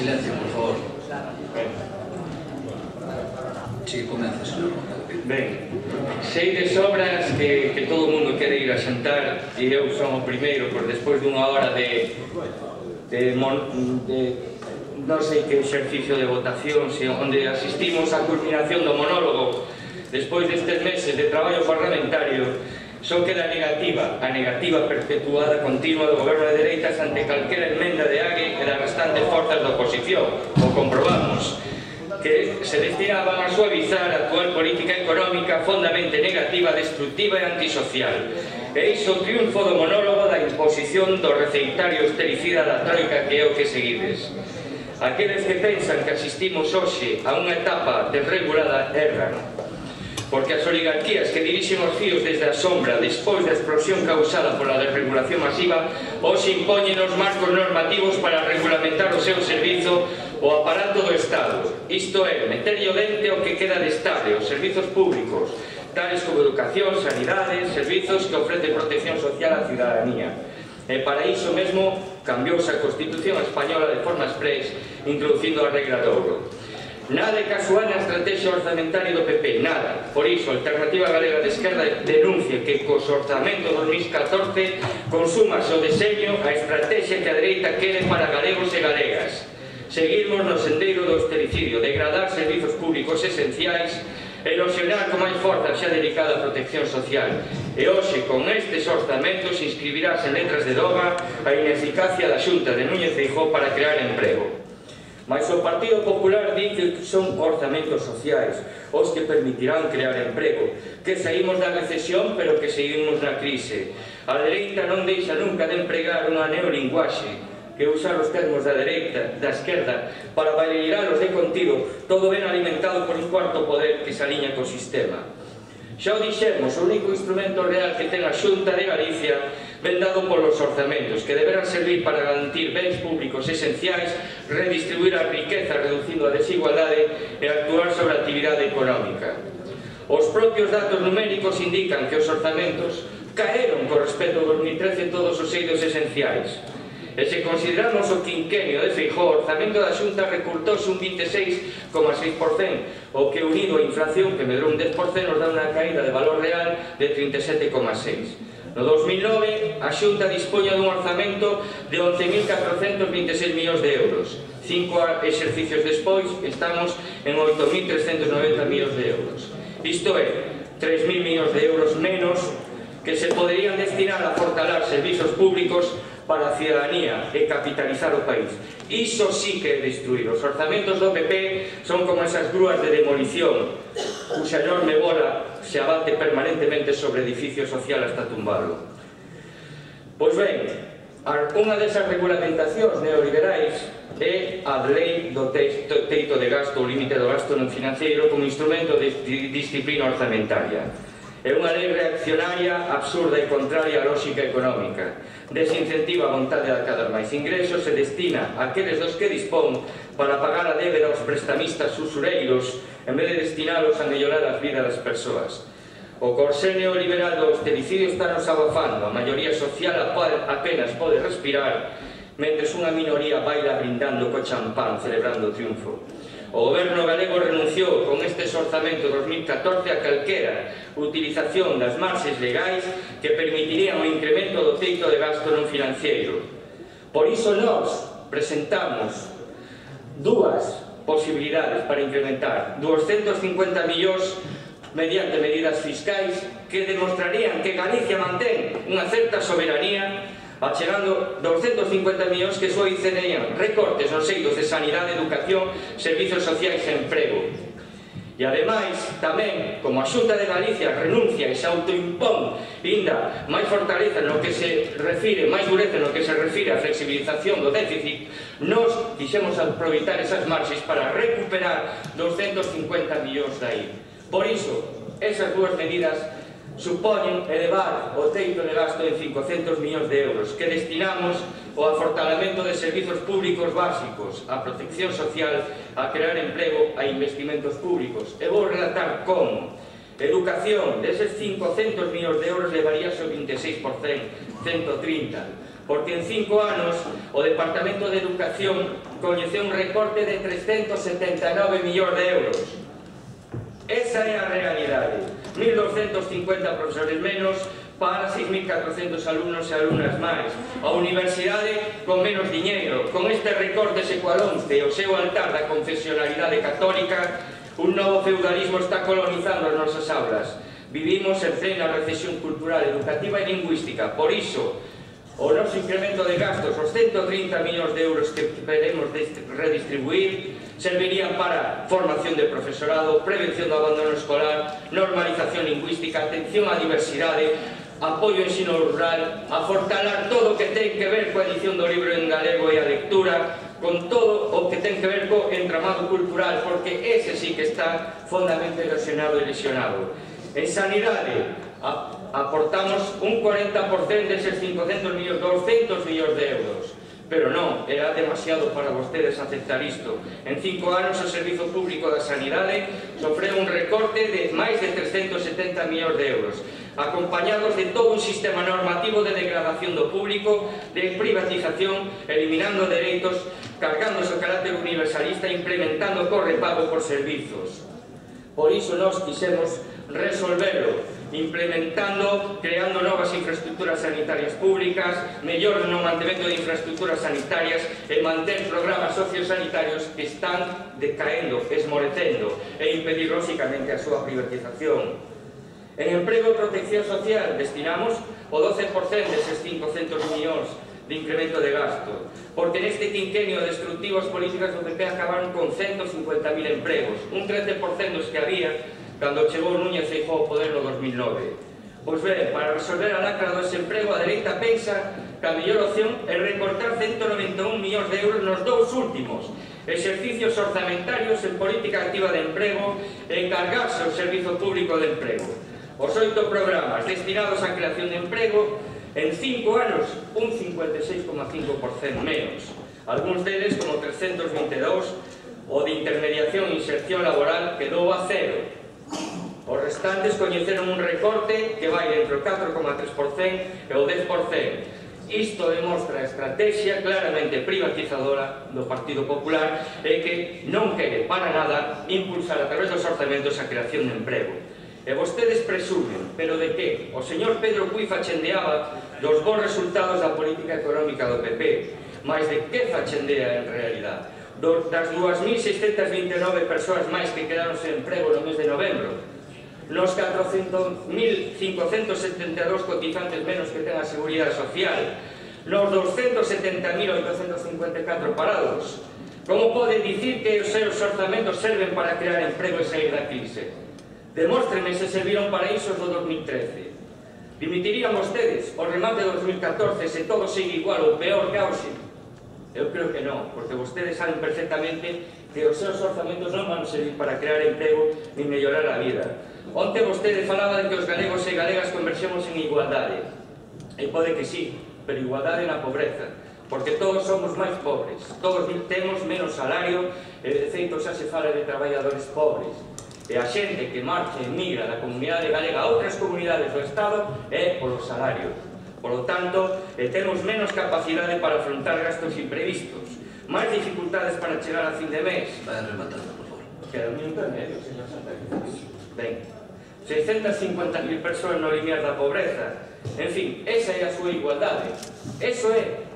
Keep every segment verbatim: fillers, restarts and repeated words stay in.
Silencio, por favor. Si, comeza, señor. Ben, sei de sobras que, que todo o mundo quere ir a xantar e eu son o primeiro, por despois dunha hora de, de, mon, de non sei que exercicio de votación, se, onde asistimos á culminación do monólogo despois destes meses de traballo parlamentario, só queda negativa, a negativa perpetuada continua do goberno de dereitas ante calquera enmenda de Ague e das restantes forzas da oposición. O comprobamos, que se destinaban a suavizar a actual política económica fondamente negativa, destructiva e antisocial. E iso o triunfo do monólogo da imposición do receitario austericida da troika que é o que seguides. Aqueles que pensan que asistimos hoxe a unha etapa desregulada erran, porque as oligarquías que dirixen os fíos desde a sombra despois da explosión causada pola desregulación masiva hoxe impoñen os marcos normativos para regulamentar o seu servizo o aparato do Estado, isto é, meterlle o dente o que queda de estable, os servizos públicos, tales como educación, sanidade, servizos que ofrecen protección social á ciudadanía. E para iso mesmo cambiouse a Constitución española de forma exprés, introducindo a regra de ouro. Nada de casual na estrategia orzamentaria do P P, nada. Por iso, a Alternativa Galega de Esquerda denuncia que cos orzamentos dos mil catorce consúmase o deseño, a estrategia que a dereita quere para galegos e galegas. Seguirmos no sendeiro do austericidio, degradar servizos públicos esenciais, erosionar con máis forza xa dedicada á protección social. E hoxe, con estes orzamentos, inscribirás en letras de doga a ineficacia da Xunta de Núñez Feijóo para crear emprego. Mas o Partido Popular di que son orzamentos sociais, os que permitirán crear emprego, que saímos da recesión, pero que seguimos na crise. A dereita non deixa nunca de empregar unha neolinguaxe, que usar os termos da dereita, da esquerda, para valeralos de contido, todo ben alimentado por un cuarto poder que se aliña co sistema. Xa o dixemos, o único instrumento real que ten a Xunta de Galicia ven dado polos orzamentos, que deberán servir para garantir bens públicos esenciais, redistribuir a riqueza reducindo a desigualdade e actuar sobre a actividade económica. Os propios datos numéricos indican que os orzamentos caeron con respecto ao dos mil trece todos os eidos esenciais. E se consideramos o quinquenio de Feijóo, o orzamento da Xunta recortouse un vinte e seis coma seis por cento, o que unido a inflación, que medrou un dez por cento, nos dá unha caída de valor real de trinta e sete coma seis. No dos mil nove, a Xunta dispoña dun orzamento de once mil catrocentos vinte e seis millóns de euros. Cinco exercicios despois, estamos en oito mil trescentos noventa millóns de euros. Isto é, tres mil millóns de euros menos que se poderían destinar a fortalar servizos públicos para a ciudadanía e capitalizar o país. Iso sí que é destruir. Os orzamentos do P P son como esas grúas de demolición cuxa enorme bola se abate permanentemente sobre edificio social hasta tumbalo. Pois ben, unha desas regulamentacións neoliberais é a lei do teito de gasto, o límite do gasto non financiero como instrumento de disciplina orzamentaria. É unha lei reaccionaria, absurda e contraria á lógica económica. Desincentiva a vontade de acadar máis ingresos e destina aqueles dos que dispón para pagar a débeda aos prestamistas usureiros en vez de destinalos a mellorar as vidas das persoas. O corsé neoliberal do austericidio está nos abafando, a maioría social apenas pode respirar, mentres unha minoría baila brindando co champán, celebrando o triunfo. O goberno galego renunciou con estes orzamentos dos mil catorce a calquera utilización das marxes legais que permitirían o incremento do teito de gasto non financiero. Por iso nós presentamos dúas posibilidades para incrementar doscentos cincuenta millóns mediante medidas fiscais que demostrarían que Galicia mantén unha certa soberanía, achegando doscentos cincuenta millóns que só incendiarían recortes nos eidos de sanidade, educación, servizos sociais e emprego. E ademais, tamén, como a Xunta de Galicia renuncia e se autoimpón ainda máis fortaleza no que se refire, máis dureza no que se refire á flexibilización do déficit, nos quixemos aproveitar esas marxes para recuperar doscentos cincuenta millóns dai. Por iso, esas dúas medidas supoñen elevar o teito de gasto en cincocentos millóns de euros que destinamos ao afortalamento de servizos públicos básicos, a protección social, a crear emprego, a investimentos públicos. E vou relatar como. Educación, deses cincocentos millóns de euros levaríase o vinte e seis por cento, ciento trinta. porque en cinco anos o Departamento de Educación coñeceu un recorte de trescentos setenta e nove millóns de euros. Esa é a realidade. mil doscientos cincuenta profesores menos para seis mil catrocentos alumnos e alumnas máis. A universidade con menos diñeiro. Con este recorte se coa once o seu altar da confesionalidade católica, un novo feudalismo está colonizando as nosas aulas. Vivimos en plena recesión cultural, educativa e lingüística. Por iso, o noso incremento de gastos, os ciento trinta millóns de euros que queremos redistribuir, servirían para formación de profesorado, prevención do abandono escolar, normalización lingüística, atención á diversidade, apoio ao ensino rural, a fortalar todo o que ten que ver coa edición do libro en galego e a lectura, con todo o que ten que ver co entramado cultural, porque ese sí que está fondamente erosionado e lesionado. En sanidade, aportamos un cuarenta por cento deses cincocentos millóns, doscientos millóns de euros. Pero non, era demasiado para vostedes aceptar isto. En cinco anos o Servizo Público da Sanidade sofreu un recorte de máis de trescentos setenta millóns de euros, acompañados de todo un sistema normativo de degradación do público, de privatización, eliminando dereitos, cargándose o carácter universalista e implementando correpago por servizos. Por iso nós quixemos resolverlo, implementando, creando novas infraestructuras sanitarias públicas, mellor no mantemento de infraestructuras sanitarias e manter programas sociosanitarios que están decaendo, esmorecendo e impedir lóxicamente a súa privatización. En emprego e protección social destinamos o doce por cento deses cincocentos millóns de incremento de gasto, porque neste quinquenio destructivo as políticas do P P acabaron con ciento cincuenta mil empregos, un trece por cento dos que había cando chegou Núñez Feijóo ao poder no dos mil nove. Pois ben, para resolver a lacra do desemprego, a dereita pensa que a mellor opción é recortar ciento noventa e un millóns de euros nos dous últimos exercicios orzamentarios en política activa de emprego e encargarse ao Servizo Público de Emprego. Os oito programas destinados á creación de emprego, en cinco anos, un cincuenta e seis coma cinco por cento menos. Algúns deles, como trescentos vinte e dous, o de intermediación e inserción laboral quedou a cero. Os restantes coñeceron un recorte que vai entre o catro coma tres por cento e o dez por cento. Isto demostra a estrategia claramente privatizadora do Partido Popular e que non quere para nada impulsar a través dos orzamentos a creación de emprego. E vostedes presumen, pero de que? O señor Pedro Cui fachendeaba dos bons resultados da política económica do P P, mas de que fachendea en realidad? Das dúas mil seiscentas vinte e nove persoas máis que quedaron sen emprego no mes de novembro, nos catrocentos mil cincocentos setenta e dous cotizantes menos que ten a Seguridade Social, nos doscientos setenta mil oitocentos cincuenta e catro parados. Como pode dicir que os seus orzamentos serven para crear emprego e sair da crise? Demóstrenme se serviron para iso do dos mil trece. Dimitirían vostedes o remate do dos mil catorce se todo sigue igual ou peor que hoxe? Eu creo que non, porque vostedes saben perfectamente que os seus orzamentos non van servir para crear emprego ni mellorar a vida. Onte vostede falaba de que os galegos e galegas conversemos en igualdade. E pode que sí, pero igualdade na pobreza, porque todos somos máis pobres, todos temos menos salario e de feito xa se fala de traballadores pobres. E a xente que marcha e migra da comunidade galega a outras comunidades do Estado é polos salarios. Por lo tanto, temos menos capacidade para afrontar gastos imprevistos, máis dificultades para chegar a fin de mes. Vai rematando, por favor. Queda un minuto e medio, señor Santa Cruz. Ben, seiscentas cincuenta mil persoas no limiar da pobreza. En fin, esa é a súa igualdade. Eso é.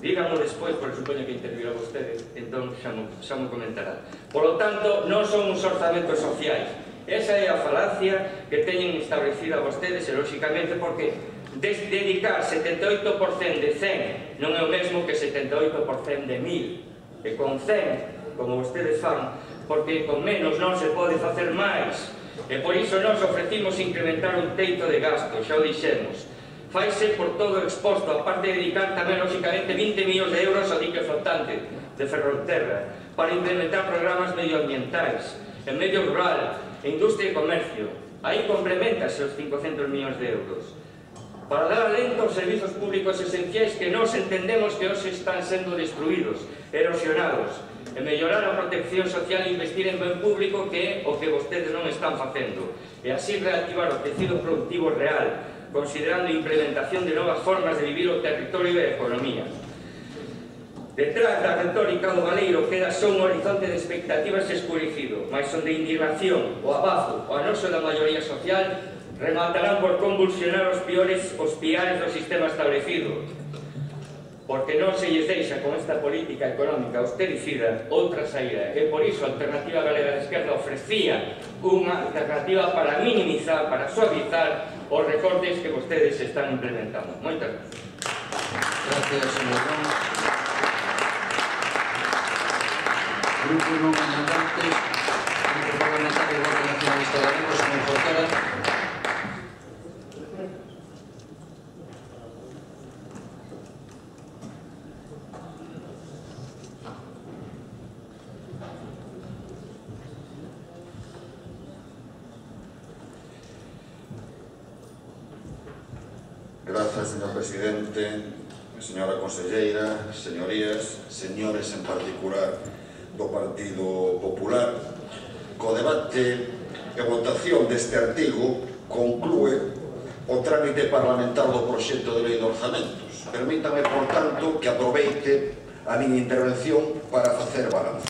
Dígamo despois, porque supoño que intervirá vostede, entón xa mo, xa mo comentará. Por lo tanto, non son uns orzamentos sociais. Esa é a falacia que teñen establecida vostedes, e lóxicamente porque dedicar setenta e oito por cento de cen non é o mesmo que setenta e oito por cento de mil. E con cen, como vostedes fan, porque con menos non se pode facer máis. E por iso nós ofrecimos incrementar un teito de gasto, xa o dixemos. Faise por todo exposto, aparte de dedicar tamén, lóxicamente, vinte millóns de euros ao dique flotante de Ferrolterra para implementar programas medioambientais, en medio rural, en industria e comercio. Aí complementase os cincocentos millóns de euros. Para dar alento aos servizos públicos esenciais que nós entendemos que hoxe están sendo destruídos, erosionados, e mellorar a protección social e investir en ben público, que é o que vostedes non están facendo, e así reactivar o tecido productivo real, considerando a implementación de novas formas de vivir o territorio e a economía. Detrás da retórica do Baleiro queda só un horizonte de expectativas escurecido, mais onde a indignación, o abazo, o anoxo da maioría social rematarán por convulsionar os piores os piares do sistema establecido, porque non se lles deixa con esta política económica austericida outra saída, e por iso a Alternativa Galega de Esquerda ofrecía unha alternativa para minimizar, para suavizar os recortes que vostedes están implementando. Moitas gracias. Gracias, señor Ron. Grupo non mandantes, Grupo Parlamentario Bloque Nacionalista Galego, señor Jorquera. Grazas, señor presidente, señora conselleira, señorías, señores en particular do Partido Popular. Co debate e votación deste artigo conclúe o trámite parlamentar do proxecto de lei de orzamentos. Permítame, por tanto, que aproveite a miña intervención para facer balance.